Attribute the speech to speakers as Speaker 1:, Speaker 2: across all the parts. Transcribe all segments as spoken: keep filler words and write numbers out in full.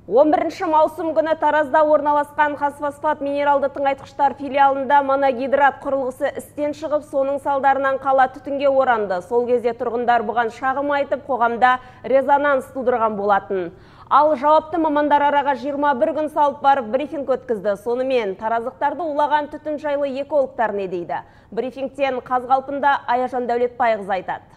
Speaker 1: он бірінші маусым күні Таразда орналасқан қазфосфат минералды тыңайтқыштар филиалында моногидрат құрылғысы істен шығып, соның салдарынан қала түтінге оранды. Сол кезде тұрғындар бұған шағым айтып, қоғамда резонанс тудырған болатын. Ал жауапты мамандар араға жиырма бір күн салып барып брифинг өткізді. Сонымен таразықтарды улаған түтін жайлы экологтар не дейді? Брифингтен Қазғалпында Аяжан Дәулетбайқызы айтады.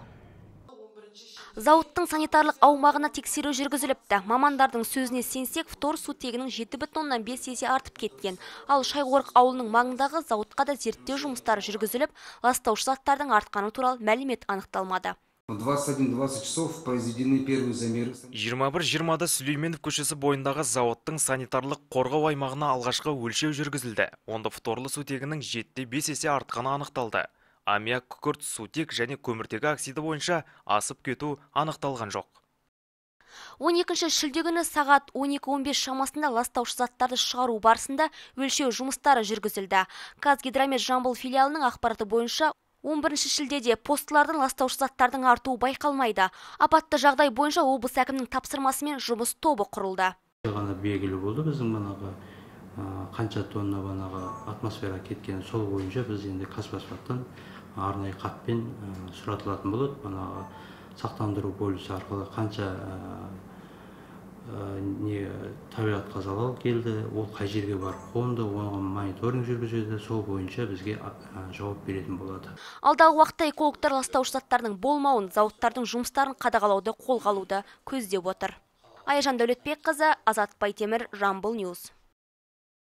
Speaker 2: Зауыттың санитарлық аумағына тексеру жүргізіліпті. Мамандардың сөзіне сенсек, фтор сутегінің жеті бүтін оннан бес есе артып кеткен. Ал Шайқорық ауылының маңындағы зауытқа да зерттеу жұмыстары жүргізіліп, ластаушы заттардың артқаны туралы мәлімет анықталмады.
Speaker 3: двадцать один двадцать часов произведены первые замеры.
Speaker 4: жиырма бір жиырмада Сүлейменов көшесі бойындағы зауыттың санитарлық қорғау аймағына алғашқы өлшеу жүргізілді. Онда фторлы сутегінің жеті бес есе артқаны анықталды. Аммиак, күкірт, сутек және көміртегі оксиді бойынша асып кету анықталған жоқ.
Speaker 2: он екінші шілде күні сағат он екі он бес шамасында ластаушы заттарды шығару барысында өлшеу жұмыстары жүргізілді. Қазгидромет Жамбыл филиалының ақпараты бойынша он бірінші шілдеде постылардың ластаушы заттардың артуы байқалмайды. Апатты жағдай бойынша облыс әкімінің тапсырмасымен жұмыс тобы құрылды.
Speaker 5: Ғана белгілі болды біздің манағы қанша тонна банаға атмосфера кеткен, сол бойынша біз енді Қазфосфаттан арнайы хатпен сұратылатын болады. Банаға сақтандыру полисі арқылы қанша не табиғатқа залал келді, ол қай жерге барып қонды, оған мониторинг жүргізеді, сол бойынша бізге жауап беретін болады.
Speaker 2: Алдағы уақытта экологтар ластаушы заттардың болмауын, зауыттардың жұмыстарын қадағалауды қолға алуды көздеп отыр. Аяжан Дәулетбекқызы, Азат Байтемір, Жамбыл Ньюс.